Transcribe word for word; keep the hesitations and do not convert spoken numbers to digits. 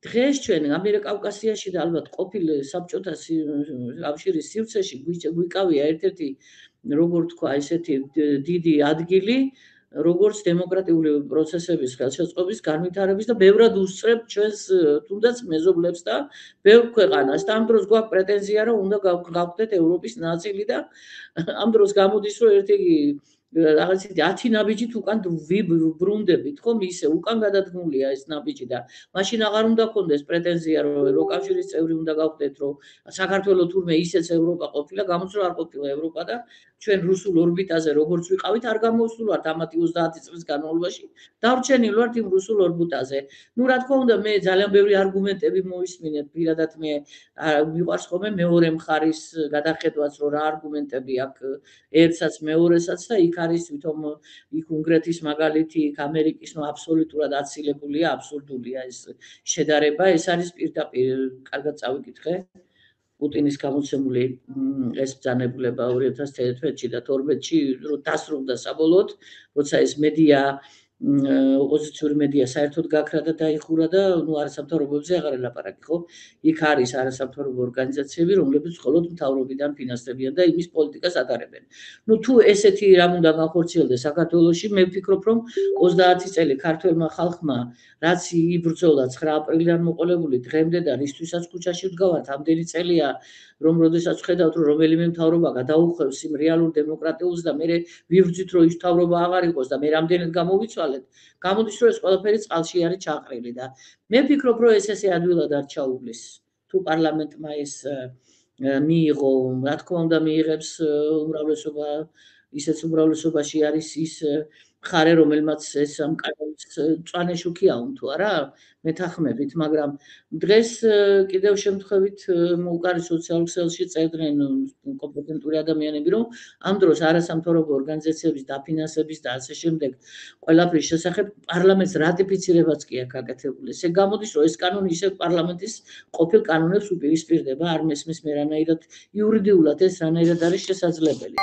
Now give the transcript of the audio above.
დღეს ჩვენ ამიერკავკასიაში და ალბათ ყოფილ საბჭოთა კავშირის სივრცეში გვიკავია ერთ-ერთი როგორ თქვა ესეთი დიდი ადგილი, როგორც დემოკრატიული პროცესების ხელშეწყობის განვითარების და ბევრად უსწრებ ჩვენს თუნდაც მეზობლებს და ბევრ ქვეყანას. და ამ დროს გვაქვს პრეტენზია, რომ უნდა გავხდეთ ევროპის ნაწილი და ამ დროს გამოდის, რომ ერთი რაღაც ათი ნაბიჯით უკან ვიბრუნდებით, ხომ ისე უკან გადადგმულია ეს ნაბიჯი და მაშინ აღარ უნდა გქონდეს პრეტენზია, რომ ევროკავშირის წევრი უნდა გავხდეთ, რომ საქართველოს თურმე ისეც ევროპა ყოფილა, გამოც რომ არ ყოფილა ევროპა და ჩვენ რუსულ ორბიტაზე როგორც ვიყავით, არ გამოვსულვართ ამათი ოცდაათი წლის განმავლობაში, დარჩენილ ვართ იმ რუსულ ორბიტაზე. ნუ რა თქმა უნდა, მე ძალიან ბევრი არგუმენტები მოვისმინეთ, პირადად მე მიყვარს ხოლმე მეორე მხარის გადახედვაც, რომ რა არგუმენტები აქვს ერთსაც მეორესაც და იქ არის თვითონ იქ უნგრეთის მაგალითი, იქ ამერიკის, ნუ აბსოლუტურად აცილებულია, აბსურდულია ეს შედარება, ეს არის პირდაპირ, კარგად წავიკითხე. პუტინის გამოცემული ეს ბრძანებულება ორი ათას თერთმეტში და თორმეტში დასრულდა საბოლოოდ, როცა ეს მედია ოპოზიციური მედია საერთოდ გაქრა და დაიხურა და ნუ არასამთავრობოებზე აღარ ელაპარაკი, ხო? იქ არის არასამთავრობო ორგანიზაციები, რომლებიც მხოლოდ მთავრობიდან ფინანსდებიან და იმის პოლიტიკას ატარებენ. ნუ თუ ესეთი რამ უნდა განხორციელდეს საქართველოში, მე ვფიქრობ, რომ ოცდაათი წელი ქართველმა ხალხმა რაც იბრძოლა ცხრა აპრილიდან მოყოლებული დღემდე და რისთვისაც ქუჩაში ვდგავართ, ამდენი წელია, რომ როდესაც ვხედავთ, რომ რომელიმე მთავრობა გადაუხვევს იმ რეალურ დემოკრატიულს და მე ვიბრძვით, რომ ის მთავრობა აღარ იყოს და მე რამდენად გამოვიცვალეთ, გამოდის, რომ ეს ყველაფერი წყალში არის ჩაყრილი და მე ვფიქრობ, რომ ეს ესე ადვილად არ ჩაუვლის. თუ პარლამენტმა ეს მიიღო, რა თქმა უნდა მიიღებს უმრავლესობა, ისეც უმრავლესობაში არის ის მხარე, რომელმაც ეს ამ კანონის მწვანე შუქი აუნთო, არა? მეთანხმებით, მაგრამ დღეს კიდევ შემთხვევით მოუკარი სოციალურ ქსელში წერდნენ კომპეტენტური ადამიანები, რომ ამ დროს არასამთავრობო ორგანიზაციების დაფინანსების და ასე შემდეგ ყველაფრის შესახებ პარლამენტს რატიფიცირებაც კი აქვს გაკეთებული. ესე გამოდის, რომ ეს კანონი ისევ პარლამენტის ყოფილ კანონებს უპირისპირდება, არ მესმის მე რანაირად იურიდიულად ეს რანაირად არის შესაძლებელი.